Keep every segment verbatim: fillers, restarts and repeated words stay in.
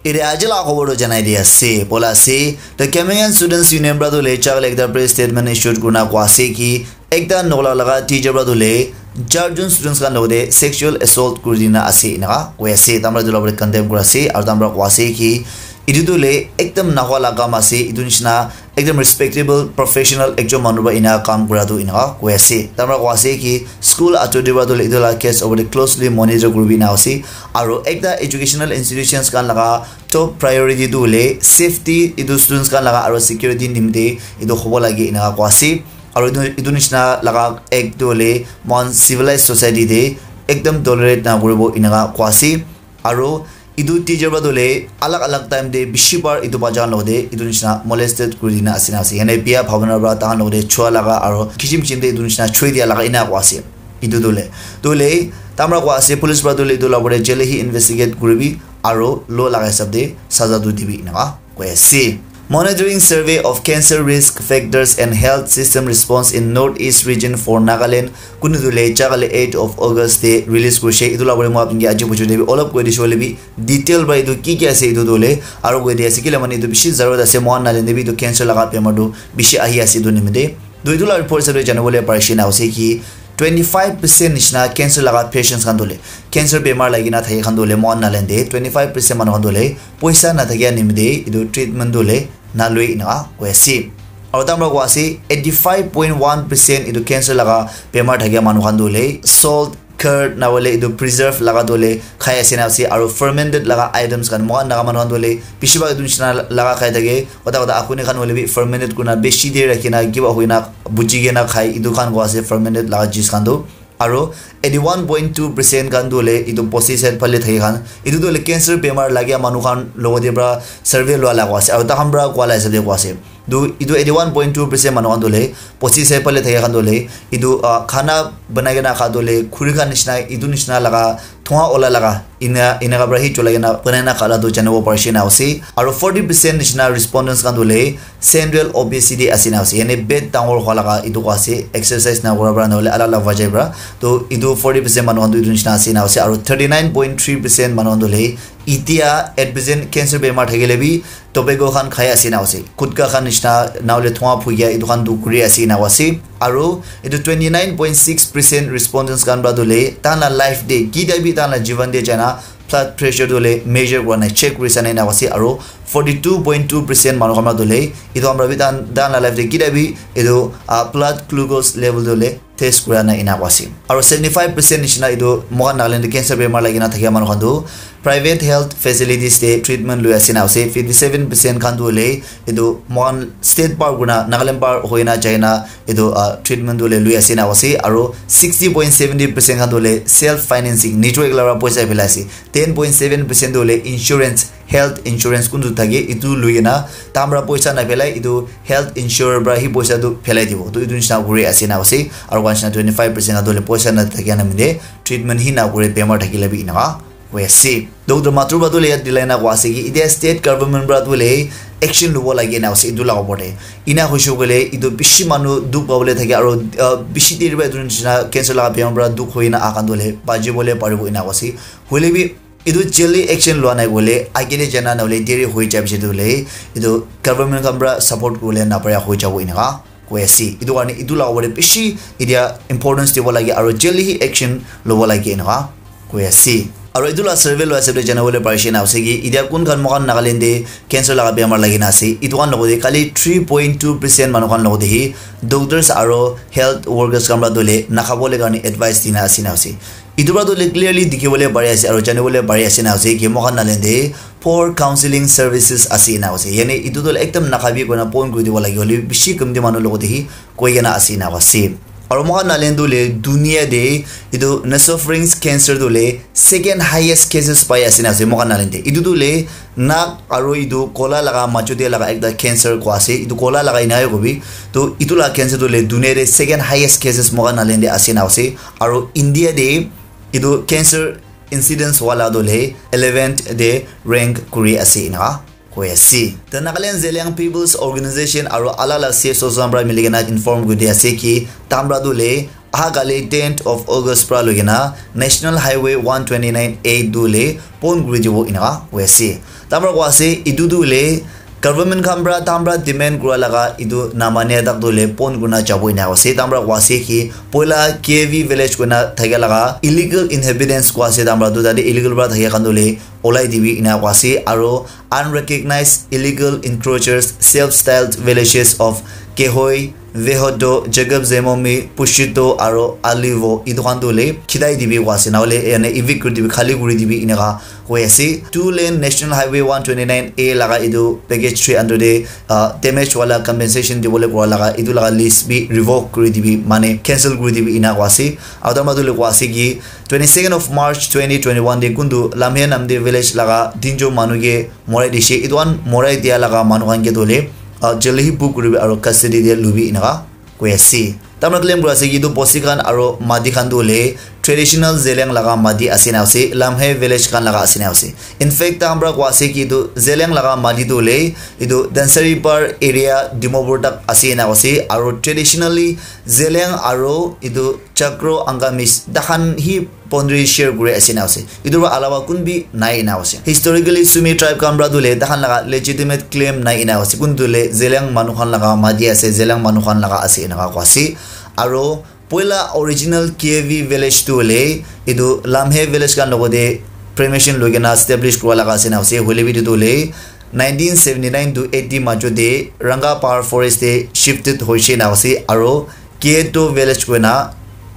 Ite aji la khobor toh janai di ase, bola ase. The Cameroonian Students Union pra toh le chak le ekta press statement issued kurina koa ase ki ekta nola laga teacher pra toh le charjon students khan logote sexual assault kuri dina ase inaka koi ase. Tamra etu la pore condemn kura ase aru tamra koa ase ki etu toh le ekdam nahua la kam ase. Etu nishina ekdam respectable professional ekjon manu pra ena kam kura tu enaka koi ase. Tamra koa ase ki school authority pra tu etu la case over te closely monitor kuribi na ase. Aru ekta educational institutions khan laga top priority tu hoile safety etu students khan laga aru security nimite etu hobo lage enaka koa ase. Aru etu etu nishina laga act tu hoile mohan civilized society te ekdam tolerate na kuribo enaka koa ase. Aru etu teacher pra toh le alag alag time te bishi bar etu bacha khan logote etu nishina molested kuri dina ase na ase. Yane biya bhabana pra tahan logote chua laga aru kichim kichim te etu nishina choi dia laga ena koa ase. Etu toh le toh le tamra koa ase police pra toh le etu la pore jail hi investigate kuribi aru law laga hisab te saza tu dibi enaka koi ase. Monitoring survey of cancer risk factors and health system response in Northeast region for Nagaland kunu tu le chakale eight of August te release kurishe. Etu la pore moi apni ke aji buchu debi olop koi dishe hoile bi detail pra etu ki ki ase etu tu le aru koi di ase kile mane etu bishi zarurat ase. Mohan Nagaland te bi etu cancer laga bemar tu bishi ahi ase etu nimite. Tu etu la report hisab te jana bole parishe na ase ki twenty five percent nishina cancer laga patients khan tu le cancer bemar lagi na thaki khan tu le Mohan Nagaland te twenty five percent manu khan tu le poisa na thakia nimite etu treatment tu le na lui enaka koi ase. Aru tamra koa ase eighty five point one percent etu cancer laga bemar thakia manu khan tu le salt, curd na hoile etu preserve laga tu le khai ase na ase. Aru fermented laga items khan mohan naga manu khan tu le bishi bhag etu nishina laga khai thake. Kota kota akuni khan hoile bi fermented kurina bishi der rakhi na kiba hoi na buji kena khai etu khan koa ase fermented laga juice khan tu. Aru eighty one point two percent khan tu hoile etu pesticide phale thaki khan etu tu hoile cancer bemar lagia manu khan logote pra survey lua laga ase aru takhan pra koa la hisab te koa ase. Tu etu eighty one point two percent manu khan tu hoile pesticide phale thaki khan tu hoile etu ah, khana banai kena kha tu hoile khuri khan nishina etu nishina laga thua ola laga ena enaka pra hi cholai kena banai na kha la tu janibo parishe na ase. Aru forty percent nishina respondents khan tu hoile central obesity ase na ase, yane pet dangor hua laga etu koa ase, exercise na kura pra na hoile alak alak wajah pra. To etu forty percent manu khan tu etu nishina ase na ase, aru thirty nine point three percent manu khan tu hoile etia at present cancer bemar thakile bi tobacco khan khai ase na ase, gutka khan nishina na hoile thua phukia etu khan tu kuri ase na ase. Aru etu twenty nine point six percent respondents khan pra tu hoile tahan la life te kita bi tahan la jivan te jaina blood pressure tu hoile measure kura nai, check kuri sa nai na ase. Aru forty two point two percent manu khan pra tu hoile etu khan pra bi tahan tahan la life te kita bi etu ah, blood glucose level tu hoile test kura nai ena koa ase. Aru seventy five percent nishina etu moikhan Nagaland te cancer bemar lagi na thakia manu khan tu private health facilities te treatment lui ase na ase. Fifty seven percent khan tu hoile etu moikhan state par kurina Nagaland par hoina jaina etu ah, treatment tu hoile lui ase na ase. Aru sixty point seventy percent khan tu hoile self financing, nijor ekla para poisa phelai ase. Ten point seven percent tu hoile insurance, health insurance kuntu thake etu lui kena tahan pra poisa na phelai, etu health insurer pra hi poisa tu phelai dibo. To etu nishina kuri ase na ase. Aru koa nishina twenty five percent khan tu hoile poisa na thakia na minde treatment hi na kure, bemar thakile bi enaka koi ase. Doctor Mathur pra tu hoile yat dilai na koa ase ki etia state government pra tu hoile action lobo lagi na ase etu la opor te. Ena hoishe koile etu bishi manu dukh pabole thake aru ah, bishi der pra etu nishina cancer laga bemar pra dukh hoi na aha khan tu hoile bachi bole paribo ena koa ase. Hoile bi etu jaldi action lua nai koile age te jana na hoile deri hoi jai piche tu hoile etu government khan pra support kuribole na para hoi jabo enaka koi ase. Etu karne etu la opor te bishi etia importance dibo lage aru jaldi hi action lobo lage enaka koi ase. Aru etu la survey lua hisab te jana bole parishe na ase ki etia kun khan moikhan Nagaland te cancer laga bemar lagi na ase, etu khan logote khali three point two percent manu khan logote hi doctors aru health workers khan pra tu hoile nakhabole karne advice dina ase na ase. Etu pra tu hoile clearly dikhi bole pari ase aru jani bole pari ase na ase ki moikhan Nagaland te poor counselling services ase na ase. Yane etu tu hoile ekdam nakhabi koina point kuri dibo lage hoile bishi kamti manu logote hi koi kena ase na ase. Aru moikhan Nagaland tu hoile dunia te etu nasopharynx cancer tu hoile second highest cases pai ase na ase moikhan Nagaland te. Etu tu hoile nak aru etu kola laga majo te laga ekta cancer koa ase. Etu kola laga ena he kobi. To etu laga cancer tu hoile dunia te second highest cases moikhan Nagaland te ase na ase. Aru India te etu cancer incidence wala tu hoile eleventh te rank kuri ase enaka koi ase. The Nagaland Zeliang People's Organization aro alala C S O khan pra milikena inform kuri di ase ki tamra tu le aha kali tenth of August pra loikena National Highway one twenty-nine A tu le pon kuri dibo enaka koi ase. Tamra koi ase etu tu le government khan pra tamra demand kura laga etu namania tak tu le pon kurina jabo enaka ase. Tamra koi ase ki poila K V village koina thakia laga illegal inhabitants koi ase tamra tu tate illegal pra thakia khan tu le olai dibi enaka koi ase aro unrecognized illegal encroachers, self-styled villages of Kehoi, Vehodo, Jacob Zemomi, Pushito, aro Alivo, etu khan tu le khidai dibi koi ase, nahole ene evict kuri dibi, khali kuri dibi, enaka koi ase. Two lane National Highway one twenty-nine A laga etu package three under de, uh, damage wala compensation dibole kura laga etu laga lease bi revoke kuri dibi, mane cancel kuri dibi, enaka koi ase. Aro tamra tu le koi ase ki twenty-second of March twenty twenty-one de kuntu Lamhe Namde village laga tinjon manu ke morai dishe. Etu khan morai dia laga manu khan ke tu le, ah, jail hi book kuribi aro custody de lubi enaka koi ase. Tamra claim kura ase ki etu bosti khan aro mati khan tu le traditional Zeliang laga mati ase na ase, Lamhe village khan laga ase na ase. In fact, tamra koi ase ki etu Zeliang laga mati tu le etu Dansaripar area Dimapur tak ase na ase, aro traditionally Zeliang aro etu Chakro Angamis takhan hi boundary share kuri ase na ase. Etu para alawa kun bi nai na ase. Historically, Sumi tribe khan pra tu le takhan laga legitimate claim nai na ase. Kun tu le Zeliang manu khan laga mati ase, Zeliang manu khan laga ase enaka koi ase. Aro poila original K V village tu le etu Lamhe village khan logote permission loikena establish kura laga ase na ase. Hoile bi etu tu le nineteen seventy-nine to eighty majo de Ranga Pahar forest de shifted hoishe na ase. Aro Kieto village koina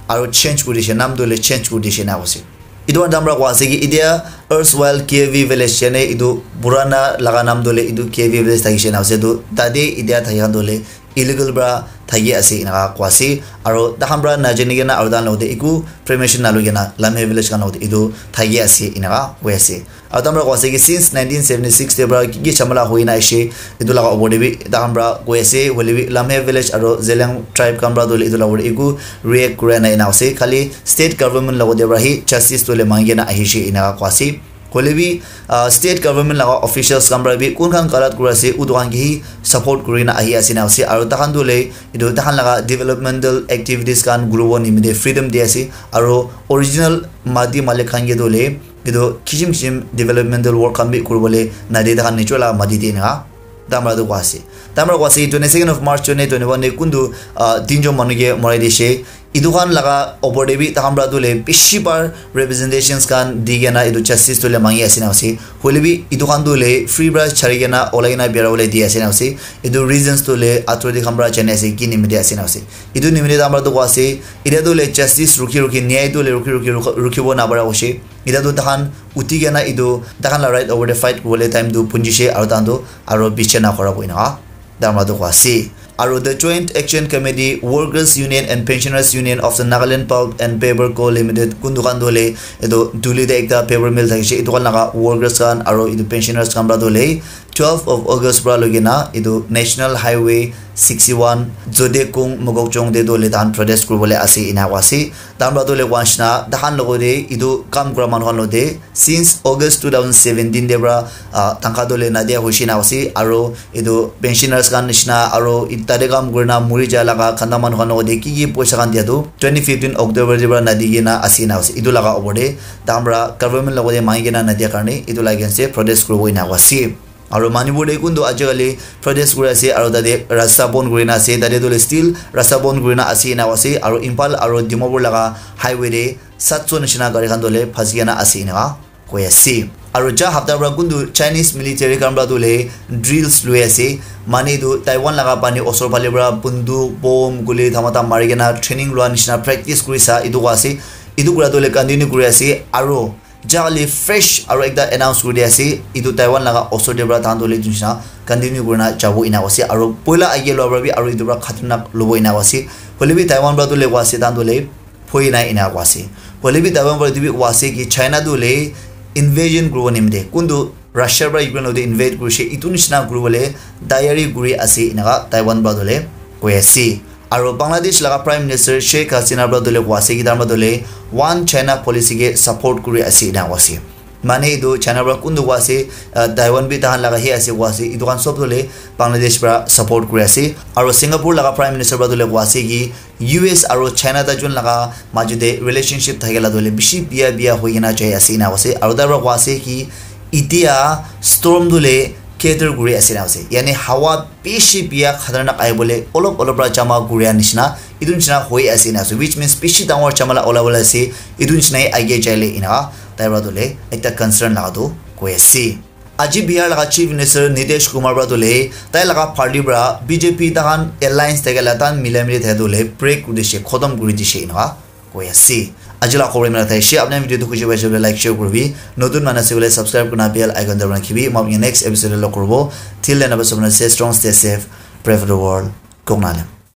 aro change kuri dishe, naam tu le change kuri dishe na ase. Etu khan tamra koi ase ki etia erstwhile K V village yane etu purana laga naam tu le etu K V village thakishe na ase. Etu tate etia thaki khan tu le illegal pra thaki ase enaka koi ase. Aro takhan pra najani kena aro takhan logote eku permission naloi kena Lamhe village khan logote etu thaki ase enaka koi ase. Aro tamra koi ase ki since nineteen seventy-six te pra ki ki jhamala hoi na aishe, etu laga opor te bi takhan pra koi ase, hoile bi Lamhe village aro Zeliang tribe khan pra tu le etu laga opor te eku react kura nai na ase. Khali state government logote pra hi justice tu le mangi kena ahishe enaka koi ase. Hoile bi, ah, state government laga officials khan pra bi kun khan galat kura ase, utu khan ke hi support kuri na ahi ase na ase. Aro takhan tu le etu takhan laga developmental activities khan kuribo nimite freedom di ase. Aro original mati malik khan ke tu le etu kisim kisim developmental work khan bi kuribole nade takhan nijor laga mati de enaka tamra tu koi ase. Tamra koi ase twenty-second of March twenty twenty-one de kuntu, ah, tinjon manu ke morai dishe. Etu khan laga opor de bi takhan pra tu le bishi bar representations khan di kena etu justice tu le mangi ase na ase. Hoile bi etu khan tu le free pra chari kena olai kena bera bole di ase na ase. Etu reasons tu le authority khan pra jani ase ki nimite ase na ase. Etu nimite tamra tu koi ase. Etia tu le justice rukhi rukhi, nyai tu le rukhi rukhi rukh-, rukhibo nabara hoishe. Etia tu takhan uthi kena etu takhan la right over the fight kuribole time tu punjishe aro takhan tu aro piche na khora boina tamra tu koi ase. Aro the Joint Action Committee, Workers Union and Pensioners Union of the Nagaland Pulp and Paper Co Limited kun dukan tu le etu Duli te ekta paper mill thakishe, etu khan laga workers khan aro etu pensioners khan pra tu le twelve of August pra loikena etu National Highway sixty-one Zodekung Mokokchung te tu le tahan protest kuribole ase ena koi ase. Tamra tu le koi nishina tahan logote etu kam kura manu khan logote since August two thousand seventeen te pra, ah, tangka tu le nadia hoishe na ase aro etu pensioners khan nishina aro it-, tate kam kurina muri ja laga khanda manu khan logote ki ki poisa khan dia tu twenty fifteen October te pra nadi kena ase na ase. Etu laga opor te tamra government logote mangi kena nadia karne etu laga against te protest kuribo ena koi ase. Aro Manipur te kuntu ajikali protest kuri ase aro tate rasta bon kurina ase, tate tu le still rasta bon kurina ase ena ase. Aro Imphal aro Dimapur laga highway te satso nishina gari khan tu le phasi kena ase ena koi ase. Aro ja hapta pra kuntu Chinese military khan pra tu le drills lui ase, mane tu Taiwan laga pani osor phale pra bunduk, bomb, guli, dhamata mari kena training lua nishina practice kuri sa etu koi ase. Etu kura tu le continue kuri ase aro Jali fresh aro ekta announce kuri di ase, etu Taiwan laga osor te pra tahan tu le etu nishina continue kurina jabo ena ase, aro poila age lua pra bi aro etu pra khatarnak lobo ena ase. Hoile bi Taiwan pra tu le koi ase tahan tu le phoi nai ena koi ase. Hoile bi Taiwan pra etu bi koi ase ki China tu le invasion kuribo nimite kuntu Russia pra Ukraine logote invade kurishe, etu nishina kuribole tayari kuri ase enaka Taiwan pra tu le koi ase. Aro Bangladesh laga Prime Minister Sheikh Hasina pra tu le koi ase ki tahan pra tu le One China Policy ke support kuri ase ena koi ase. Mane etu China para kuntu koa ase, uh, Taiwan bi tahan laga he ase koa ase, etu khan sob tu le Bangladesh para support kuri ase. Aro Singapore laga Prime Minister para tu le koa ase ki U S aro China ta jun laga majo te relationship thakela tu le bishi bia bia hoi kena jai ase ena koa ase. Aro tai para koa ase ki itia storm tu le cater kuri ase ena ase. Yani hawa bishi bia khatarnak ahi bole olop olop para jama kuri a nishina, etu nishina hoi ase ena ase. Which means bishi dangor jamala ola bole ase, etu nishina hi age jai le ena tai para tu le ekta concern laga tu koi ase. Aji Bihar laga Chief Minister Nitish Kumar para tu le tai laga party para B J P tahan alliance thakela tahan mila mili thakela tu le break kuri dishe, khotom kuri dishe ena koi ase. Aji la khobor imana thai she, apni video tu khushi paise koile like share kuribi, notun manu ase koile subscribe kurina bell icon dabai rakhibi. Moi apni next episode te log kuribo. Till then, stay strong, stay safe, pray for the world. Kok nale.